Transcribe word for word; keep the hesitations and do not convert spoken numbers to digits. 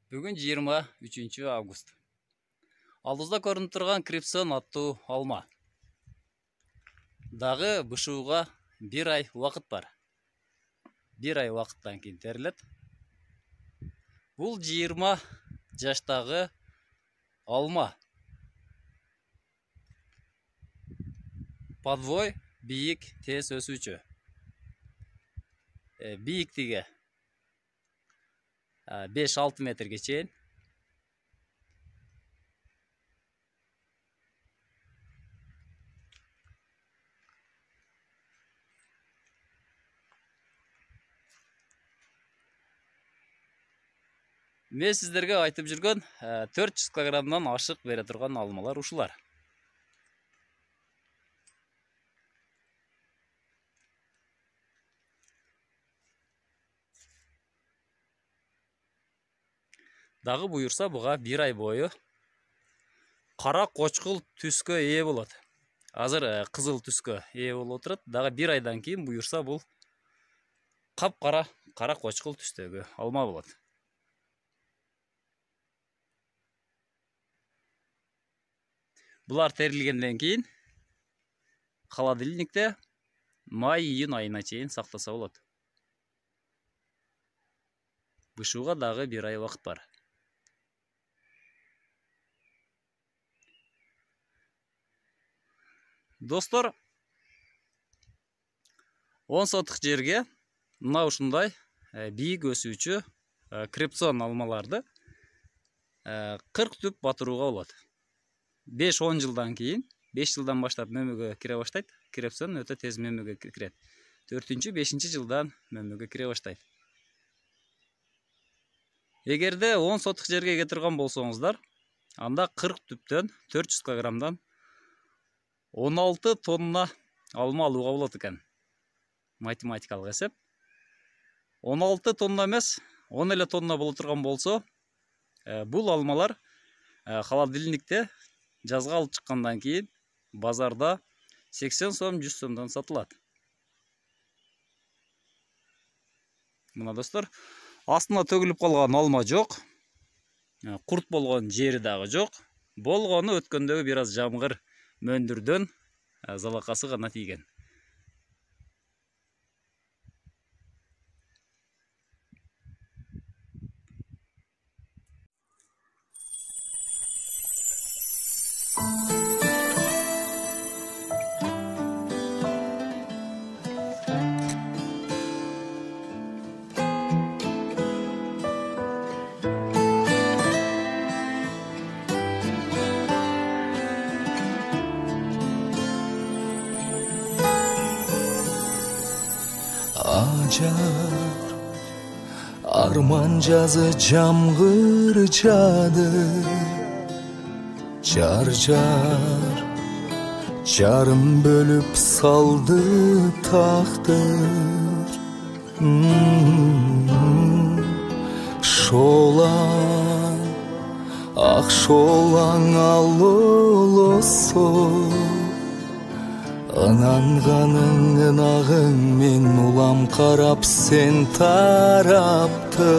Бүгүн жыйырма үчүнчү август. Алдыбызда көрүнүп турган Крепсон аттуу алма. Дагы бышууга бир ай убакыт бар. Бир ай убакыттан кийин терилет. Бул жыйырма жаштагы алма. Подвой бийик тез өсүүчү. Бийиктиги беш алты метрге чейин. Мен сиздерге айтып жүргөн төрт жүз килограммдан ашык бере турган алмалар ушулар. Дагы буюрса буга бир ай бою кара кочкул түскө ээ болот. Азыр кызыл түскө ээ болуп отурат. Дагы бир айдан кийин буюрса бул капкара кара кочкул түстөгү алма болот. Булар терилгенден кийин холодильникте май-июнь айына чейин сактаса болот. Бышууга дагы бир ай убакыт бар. Достор, он сотук жерге мына ушундай бийик өсүүчү Крепсон алмаларды кырк түп батырууга болот. беш он жылдан кийин, беш жылдан баштап мөмөгө кире баштайт. Крепсон өтө тез мөмөгө кирет. төртүнчү бешинчи жылдан мөмөгө кире баштайт. Эгерде он сотук жерге эге турган болсоңуздар, анда кырк түптөн төрт жүз килограммдан он алты тонна алма алууга болот экен. Математикалык эсеп. он алты тонна эмес, он эле тонна боло турган болсо, бул алмалар холодильникте жазга алып чыккандан кийин базарда сексен сом, жүз сомдон сатылат. Мына достор, астына төгүлүп калган алма жок. Курт болгон жери дагы жок. Болгону өткөндөгү бир аз жамгыр мөндүрдөн залакасы гана тийген. Acar arman жазы жамгыр жады, чаржар жарым бөлүп салды тактыр. Шолаң ак шолаң алолосо, ынанганың ынагың мен улам карап сен тарапты.